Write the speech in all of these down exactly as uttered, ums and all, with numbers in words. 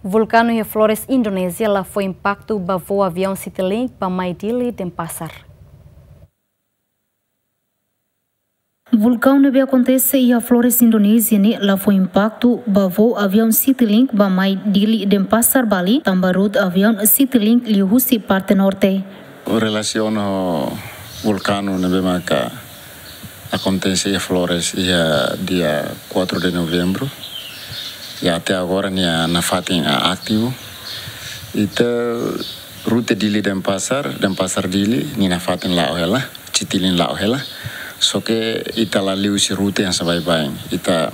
Vulkanu iha Flores, Indonézia, la fó impaktu ba voo aviaun Citilink ba mai Dili, Denpasar. Vulkaun ne'ebé akontese iha Flores, Indonézia ne'e la fó impaktu ba voo aviaun Citilink ba mai Dili, Denpasar, Bali, tanba rute aviaun Citilink liuhusi parte norte. Relasiona ho vulkanu ne'ebé maka akontese iha Flores iha dia quatro de novembro. I até agora nia nafatin ativu. Ita rute Dili Denpasar, Denpasar Dili, nia nafatin la'o hela, Citilink la'o hela. Só ke ita la liu husi rute hanesan baibain. Ita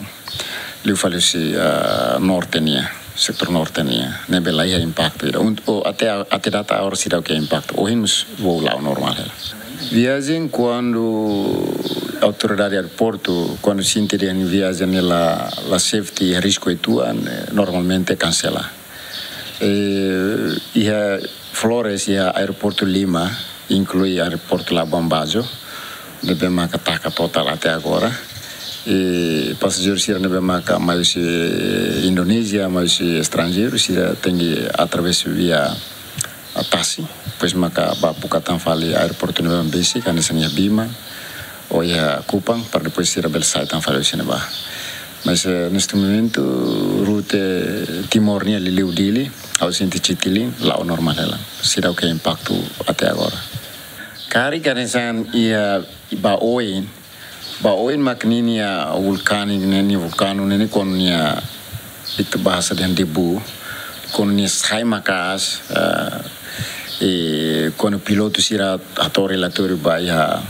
liu fali husi, ah, norte nian, setór norte nian. Ne'ebé la iha impaktu ida. Un-, o, até, até data agora seidauk iha impaktu. Ohin mós voo la'o normál hela. Viajen kuandu autoridade aeroportu, kuandu sente dehan viajen ne'e la, la safety, risku uitoan, eh, normalmente kansela. Eh, iha Flores, iha aeroportu lima, inklui aeroportu Labuan Bajo, ne'ebé maka taka total até agora. I pasajeiru sira ne'ebé maka mai husi Indonézia, mai husi estranjeiru, sira tenke através via tasi, depois maka bá buka tan fali aeroportu ne'ebé besik, hanesan iha Bima ou iha Kupang, para depois sira bele sai tan fali husi ne'ebá. Mas, eh, neste momento, rute Timor nian liuliu Dili, ha'u sente Citilink, la'o normál hela. Seidauk iha impaktu até agora. Karik hanesan iha ba oin, ba oin mak ninia vulkaun ne'e, nia vulkanu ne'e, kuandu nia, ita bahasa dehan debu, kuandu nia sai maka'as, eh, i kuandu pilotu sira hato'o relatóriu ba iha,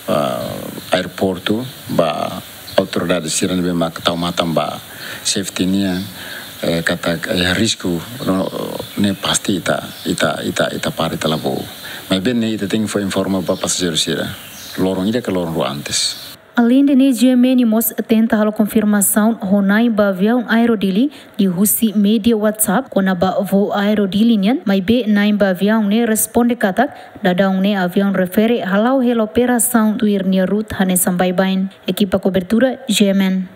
eh, aeroportu, ba autoridade sira ne'ebé mak tau matan ba safety nian, eh, katak, eh, risku no, ne'e pasti ita, ita, ita, ita para, ita la voo. Maibé ne'e ita tenke fó informa ba pasajeiru sira loron ida ka loron rua antes. Aleinde ne'e, G M N mós tenta halo konfirmasaun ho na'in ba aviaun Aero Dili liuhusi média WhatsApp kona-ba voo Aero Dili nian, maibé na'in ba aviaun ne'e responde katak daudaun ne'e aviaun refere hala'o hela operasaun tuir nia rute hanesan baibain. Ekipa kobertura, G M N.